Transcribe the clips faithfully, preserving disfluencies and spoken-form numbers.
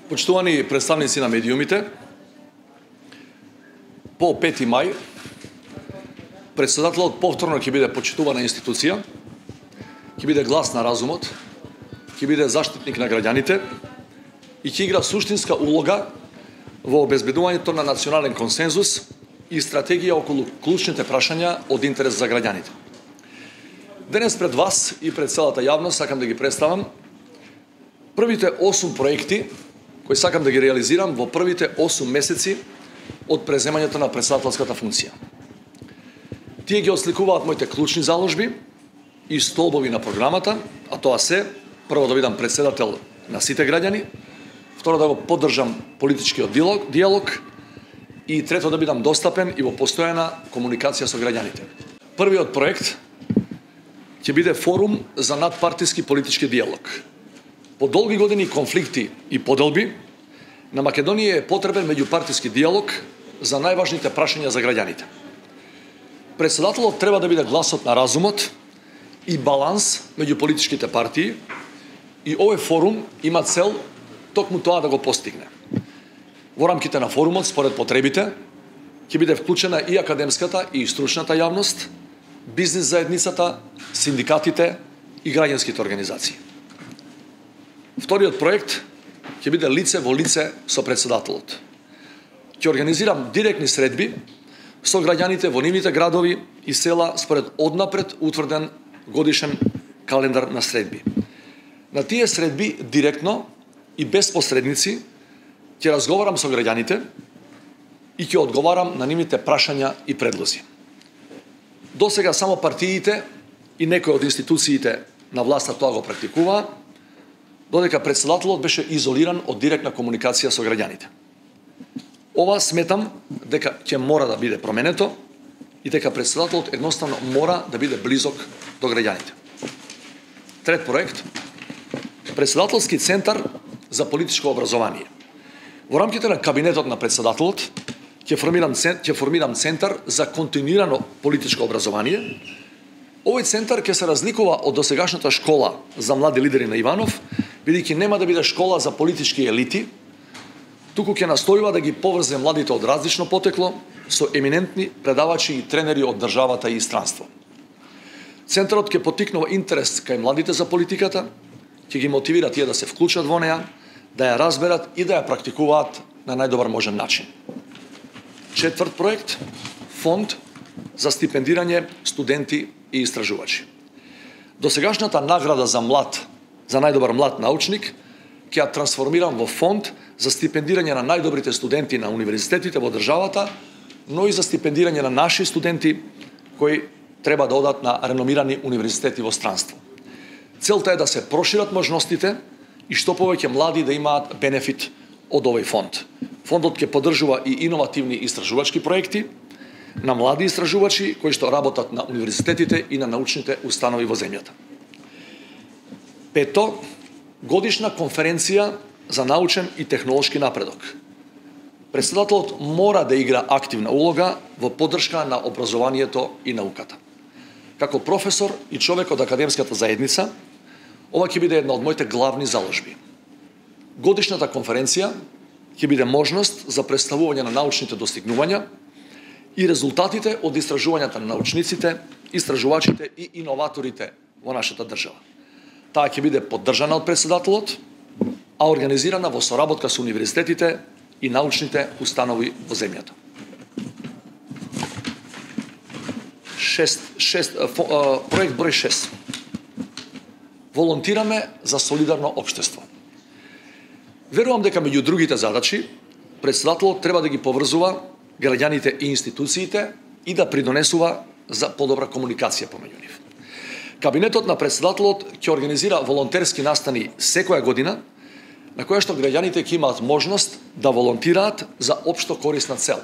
Почитувани представници на медиумите, по пети мај, председателот повторно ќе биде почитувана институција, ќе биде глас на разумот, ќе биде заштитник на граѓаните и ќе игра суштинска улога во обезбедувањето на национален консензус и стратегија околу клучните прашања од интерес за граѓаните. Денес пред вас и пред целата јавност сакам да ги представам првите осум проекти кои сакам да ги реализирам во првите осум месеци од преземањето на председателската функција. Тие ги осликуваат моите клучни заложби и столбови на програмата, а тоа се: прво да бидам председател на сите граѓани, второ да го поддржам политичкиот диалог, диалог и трето да бидам достапен и во постојана комуникација со граѓаните. Првиот проект ќе биде форум за надпартиски политички диалог. По долги години конфликти и поделби, на Македонија е потребен меѓупартиски диалог за најважните прашања за граѓаните. Председателот треба да биде гласот на разумот и баланс меѓу политичките партии и овој форум има цел токму тоа да го постигне. Во рамките на форумот, според потребите, ќе биде вклучена и академската и стручната јавност, бизнис заедницата, синдикатите и граѓанските организации. Вториот проект ќе биде лице во лице со председателот. Ќе организирам директни средби со граѓаните во нивните градови и села според однапред утврден годишен календар на средби. На тие средби директно и без посредници ќе разговарам со граѓаните и ќе одговарам на нивните прашања и предлози. До сега само партиите и некои од институциите на власта тоа го практикуваа, додека председателот беше изолиран од директна комуникација со граѓаните. Ова сметам дека ќе мора да биде променето и дека председателот едноставно мора да биде близок до граѓаните. Трет проект: председателски центар за политичко образование. Во рамките на кабинетот на председателот ќе формирам ќе формирам центар за континуирано политичко образование. Овој центар ќе се разликува од досегашната школа за млади лидери на Иванов, бидејќи нема да биде школа за политички елити, туку ќе настојува да ги поврзе младите од различно потекло со еминентни предавачи и тренери од државата и странство. Центарот ќе поттикнува интерес кај младите за политиката, ќе ги мотивира тие да се вклучат во неа, да ја разберат и да ја практикуваат на најдобар можен начин. Четврт проект: фонд за стипендирање студенти и истражувачи. Досегашната награда за млад, за најдобар млад научник, ќе ја трансформирам во фонд за стипендирање на најдобрите студенти на универзитетите во државата, но и за стипендирање на наши студенти кои треба да одат на реномирани универзитети во странство. Целта е да се прошират можностите и што повеќе млади да имаат бенефит од овој фонд. Фондот ќе поддржува и иновативни истражувачки проекти на млади истражувачи кои што работат на универзитетите и на научните установи во земјата. Пето: годишна конференција за научен и технолошки напредок. Председателот мора да игра активна улога во поддршка на образованието и науката. Како професор и човек од академската заедница, ова ќе биде една од моите главни заложби. Годишната конференција ќе биде можност за представување на научните достигнувања и резултатите од истражувањата на научниците, истражувачите и иноваторите во нашата држава. Таа ќе биде поддржана од председателот, а организирана во соработка со универзитетите и научните установи во земјата. Шест, шест, проект број шест. Волонтираме за солидарно општество. Верувам дека меѓу другите задачи, председателот треба да ги поврзува граѓаните и институциите и да придонесува за подобра комуникација помеѓу нив. Кабинетот на председателот ќе организира волонтерски настани секоја година, на која што граѓаните ќе имаат можност да волонтираат за општо корисна цел.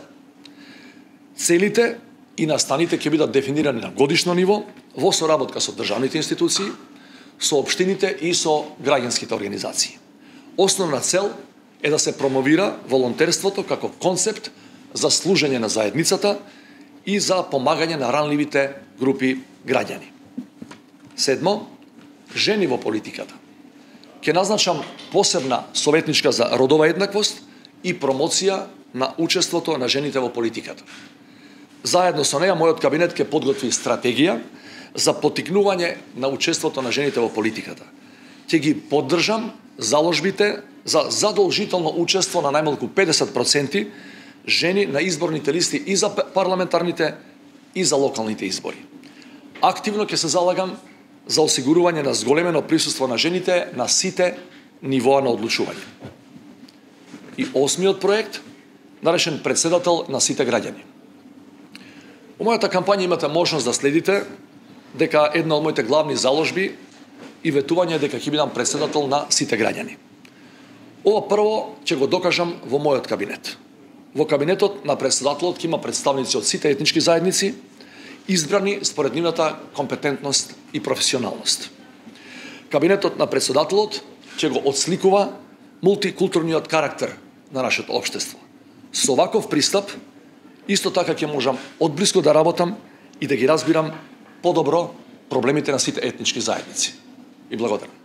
Целите и настаните ќе бидат дефинирани на годишно ниво во соработка со државните институции, со општините и со граѓанските организации. Основна цел е да се промовира волонтерството како концепт за служење на заедницата и за помагање на ранливите групи граѓани. Седмо: жени во политиката. ќе назначам посебна советничка за родова еднаквост и промоција на учеството на жените во политиката. Заедно со неја, мојот кабинет ќе подготви стратегија за поттикнување на учеството на жените во политиката. Ќе ги поддржам заложбите за задолжително учество на најмалку педесет проценти жени на изборните листи и за парламентарните и за локалните избори. Активно ќе се залагам за осигурување на зголемено присуство на жените на сите нивоа на одлучување. И осмиот проект, наречен председател на сите граѓани. Во мојата кампања имате можност да следите дека една од моите главни заложби и ветување дека ќе бидам председател на сите граѓани. Ова прво ќе го докажам во мојот кабинет. Во кабинетот на председателот ќе има представници од сите етнички заедници, избрани според нивната компетентност и професионалност. Кабинетот на председателот ќе го отсликува мултикултурниот карактер на нашето општество. Со ваков пристап, исто така ќе можам одблиску да работам и да ги разбирам подобро проблемите на сите етнички заедници. И благодарам.